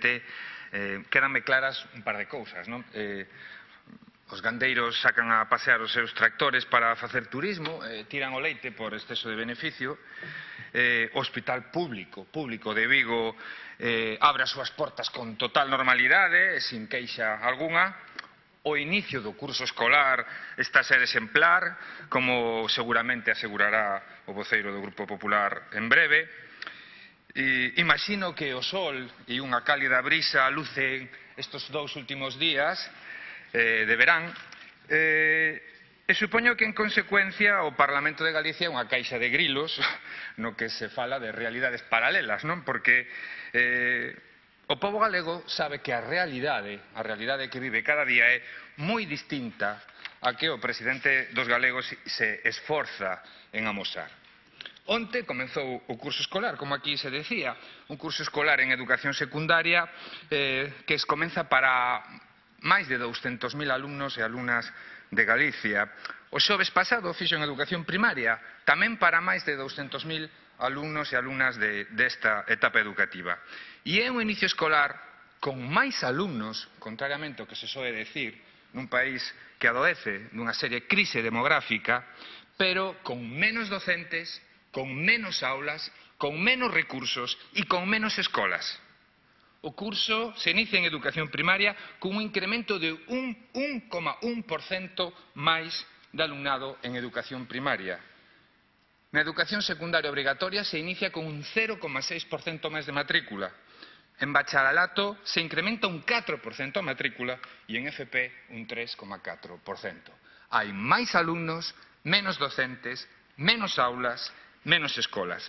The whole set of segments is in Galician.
presidente, quedanme claras un par de cousas, non? Os gandeiros sacan a pasear os seus tractores para facer turismo, tiran o leite por exceso de beneficio. O hospital público de Vigo abre as súas portas con total normalidade, sin queixa algunha. O inicio do curso escolar está a ser exemplar, como seguramente asegurará o voceiro do Grupo Popular en breve. Imagino que o sol e unha cálida brisa lucen estes 2 últimos días de verán, e supoño que en consecuencia o Parlamento de Galicia é unha caixa de grilos no que se fala de realidades paralelas, non? Porque o pobo galego sabe que a realidade que vive cada día é moi distinta a que o presidente dos galegos se esforza en amosar. Onte comezou o curso escolar, como aquí se decía, un curso escolar en educación secundaria que comeza para máis de 200.000 alumnos e alumnas de Galicia. O xoves pasado fixo en educación primaria, tamén para máis de 200.000 alumnos e alumnas desta etapa educativa. E é un inicio escolar con máis alumnos, contrariamente ao que se soe decir, nun país que adoece dunha seria crise demográfica, pero con menos docentes, con menos aulas, con menos recursos e con menos escolas. O curso se inicia en educación primaria con un incremento de un 1,1% máis de alumnado en educación primaria. Na educación secundaria obrigatoria se inicia con un 0,6% máis de matrícula. En bacharelato se incrementa un 4% a matrícula e en FP un 3,4%. Hai máis alumnos, menos docentes, menos aulas, menos escolas.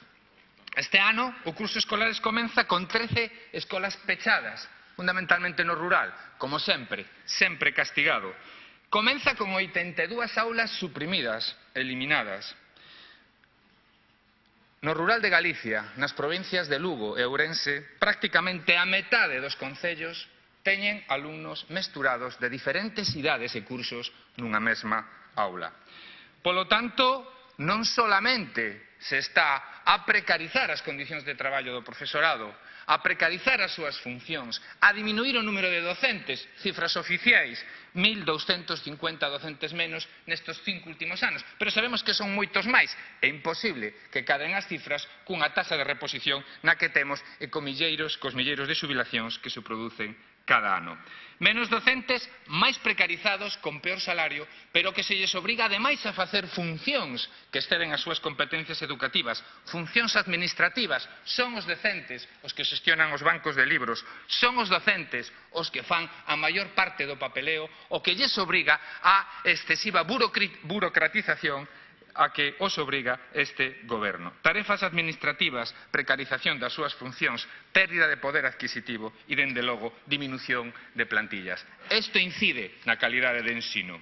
Este ano o curso escolar comeza con 13 escolas pechadas, fundamentalmente no rural, como sempre castigado. Comeza con 82 aulas suprimidas, eliminadas. No rural de Galicia, nas provincias de Lugo e Ourense, prácticamente a metade dos concellos teñen alumnos mesturados de diferentes idades e cursos nunha mesma aula. Polo tanto, non solamente se está a precarizar as condicións de traballo do profesorado, a precarizar as súas funcións, a diminuir o número de docentes, cifras oficiais, 1.250 docentes menos nestes 5 últimos anos, pero sabemos que son moitos máis. É imposible que caden as cifras cunha taxa de reposición na que temos e cos milleiros de xubilacións que se producen cada ano. Menos docentes, máis precarizados, con peor salario, pero que se lles obriga ademais a facer funcións que exceden as súas competencias educativas, funcións administrativas. Son os docentes os que xestionan os bancos de libros, son os docentes os que fan a maior parte do papeleo, o que lles obriga a excesiva burocratización a que os obriga este goberno. Tarefas administrativas, precarización das súas funcións, pérdida de poder adquisitivo e, dende logo, diminución de plantillas. Isto incide na calidade de ensino.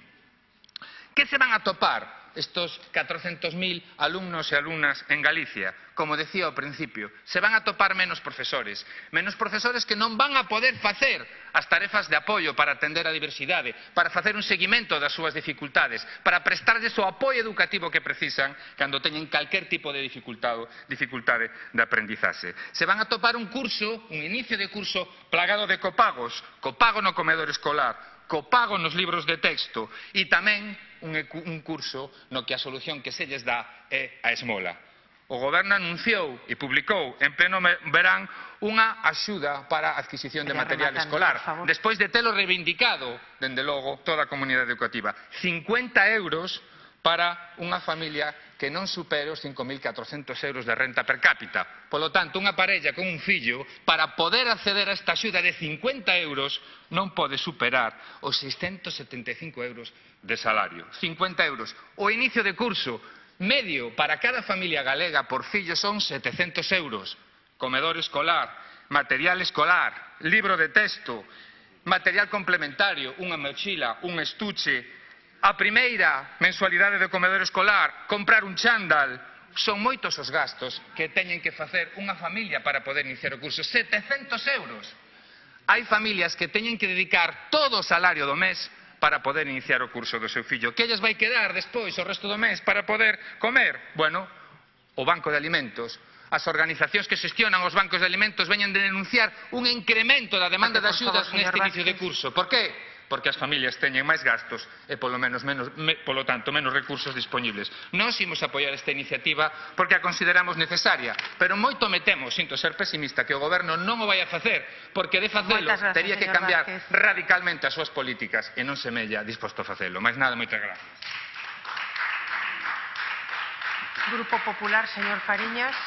Que se van a topar estos 400.000 alumnos e alumnas en Galicia? Como decía ao principio, se van a topar menos profesores que non van a poder facer as tarefas de apoio para atender a diversidade, para facer un seguimento das súas dificultades, para prestarlles o apoio educativo que precisan cando teñen calquer tipo de dificultade de aprendizaxe. Se van a topar un inicio de curso plagado de copagos, copago no comedor escolar, copago nos libros de texto e tamén un curso no que a solución que se lles dá é a esmola. O goberno anunciou e publicou en pleno verán unha axuda para a adquisición de material escolar, despois de telo reivindicado, dende logo, toda a comunidade educativa. 50 euros para unha familia que non supere os 5.400 euros de renta per cápita. Polo tanto, unha parella con un fillo, para poder acceder a esta axuda de 50 euros, non pode superar os 675 euros de salario. 50 euros. O inicio de curso medio para cada familia galega por fillo son 700 euros. Comedor escolar, material escolar, libro de texto, material complementario, unha mochila, un estuche, a primeira mensualidade do comedor escolar, comprar un chándal. Son moitos os gastos que teñen que facer unha familia para poder iniciar o curso. 700 euros. Hai familias que teñen que dedicar todo o salario do mes para poder iniciar o curso do seu fillo. Que lles vai quedar despois o resto do mes para poder comer? Bueno, o banco de alimentos As organizacións que xestionan os bancos de alimentos veñen de denunciar un incremento da demanda de axudas neste inicio de curso. Por que? Porque as familias teñen máis gastos e, polo tanto, menos recursos dispoñibles. Nós imos apoiar esta iniciativa porque a consideramos necesaria, pero moito me temo, sinto ser pesimista, que o Goberno non o vai a facer, porque de facelo tería que cambiar radicalmente as súas políticas e non semella disposto a facelo. Mais nada, moitas gracias. Grupo Popular, señor Fariñas.